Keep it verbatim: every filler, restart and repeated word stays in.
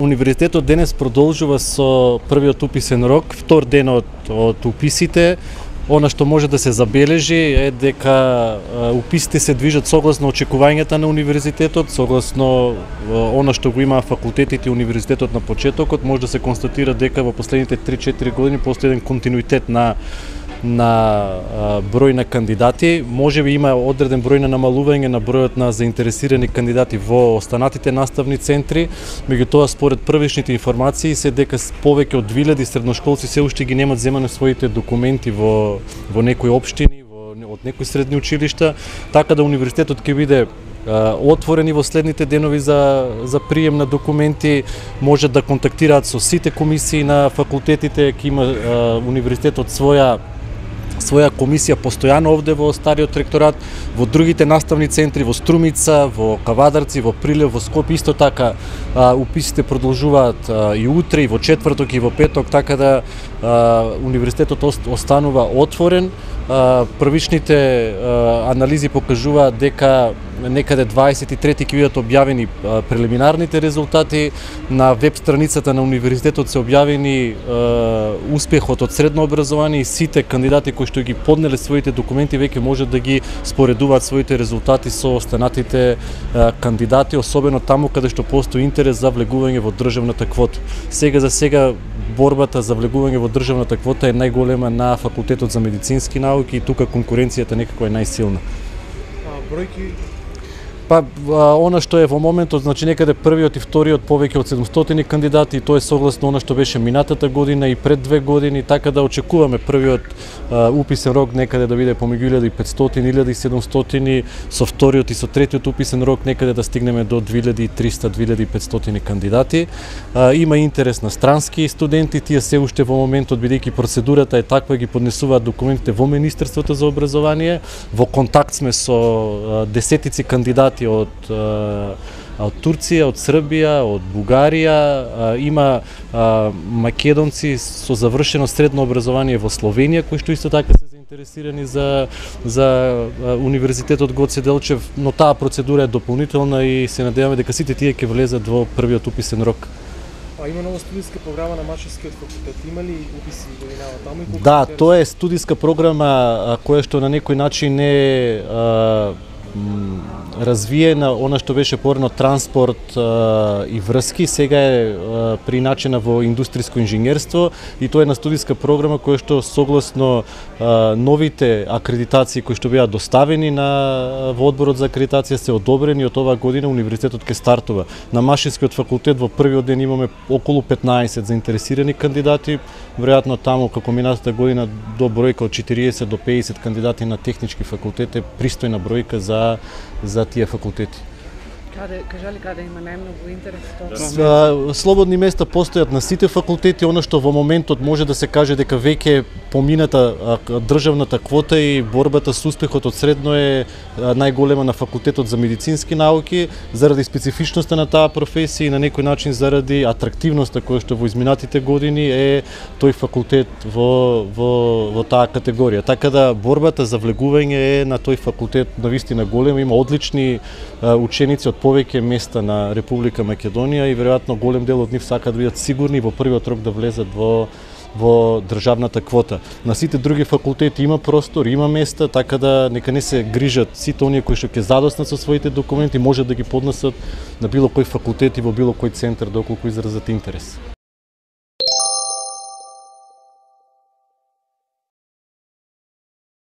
Универзитетот денес продолжува со првиот уписен рок, втор ден од, од уписите. Она што може да се забележи е дека уписите се движат согласно очекувањата на универзитетот, согласно она што го има факултетите и универзитетот на почетокот. Може да се констатира дека во последните три-четири години постои еден континуитет на на а, број на кандидати. Може би има одреден број на намалување на бројот на заинтересирани кандидати во останатите наставни центри, меѓутоа според првичните информации се дека повеќе од две илјади средношколци се уште ги немат земани своите документи во во некои општини, во од некои средни училишта, така да универзитетот ќе биде отворени во следните денови за за прием на документи. Може да контактираат со сите комисии на факултетите, ќе има а, универзитетот своја своја комисија постојано овде во стариот ректорат, во другите наставни центри, во Струмица, во Кавадарци, во Прилеп, во Скопје, исто така а, уписите продолжуваат а, и утре, и во четврток, и во петок, така да а, универзитетот останува отворен. А, првичните а, анализи покажуваат дека некаде дваесет и трети ќе бидат објавени а, прелиминарните резултати. На веб страницата на универзитетот се објавени а, успехот од средно образование и сите кандидати кои што ги поднеле своите документи веќе можат да ги споредуваат своите резултати со останатите а, кандидати, особено таму каде што постои интерес за влегување во државната квота. Сега за сега борбата за влегување во државната квота е најголема на факултетот за медицински науки и тука конкуренцијата некако е најсилна. А бројки? Па, она што е во моментот, значи некаде првиот и вториот повеќе од седумстотини кандидати, и тоа е согласно она што беше минатата година и пред две години, така да очекуваме првиот а, уписен рок некаде да биде помеѓу илјада и петстотини и илјада и седумстотини, со вториот и со третиот уписен рок некаде да стигнеме до две илјади и триста до две илјади и петстотини кандидати. А, има интерес на странски студенти, тие се уште во моментот, бидејќи процедурата е таква, ги поднесуваат документите во Министерството за образование. Во контакт сме со а, десетици кандидати од од Турција, од Србија, од Бугарија, има а, македонци со завршено средно образование во Словенија кои што исто така се заинтересирани за за а, универзитетот Гоце Делчев, но таа процедура е дополнителна и се надеваме дека сите тие ќе влезат во првиот уписен рок. А има нова студиска програма на Машинскиот факултет. Има ли уписи годинава таму и колку? Да, тоа е студиска програма која што на некој начин е а, развиена, она што беше порано транспорт а, и врски, сега е а, приначена во индустријско инженерство и тоа е на студиска програма која што согласно а, новите акредитации кои што беа доставени на во одборот за акредитација се одобрени, од оваа година универзитетот ќе стартува. На Машинскиот факултет во првиот ден имаме околу петнаесет заинтересирани кандидати, веројатно таму како минатата година до бројка од четириесет до пеесет кандидати на технички факултет е пристојна бројка за за тие факултети. Каде, кажали каде има најмногу интерес? Да. Слободни места постојат на сите факултети, она што во моментот може да се каже дека веќе помината државната квота и борбата со успехот од средно е најголема на факултетот за медицински науки, заради специфичноста на таа професија и на некој начин заради атрактивноста која што во изминатите години е тој факултет во во во таа категорија. Така да борбата за влегување е на тој факултет навистина голема, има одлични ученици од повеќе места на Република Македонија и веројатно голем дел од нив сакаат да бидат сигурни во првиот рок да влезат во во државната квота. На сите други факултети има простор, има места, така да нека не се грижат сите оние кои што ќе задоснат со своите документи, може да ги поднесат на било кој факултет и во било кој центар доколку изразат интерес.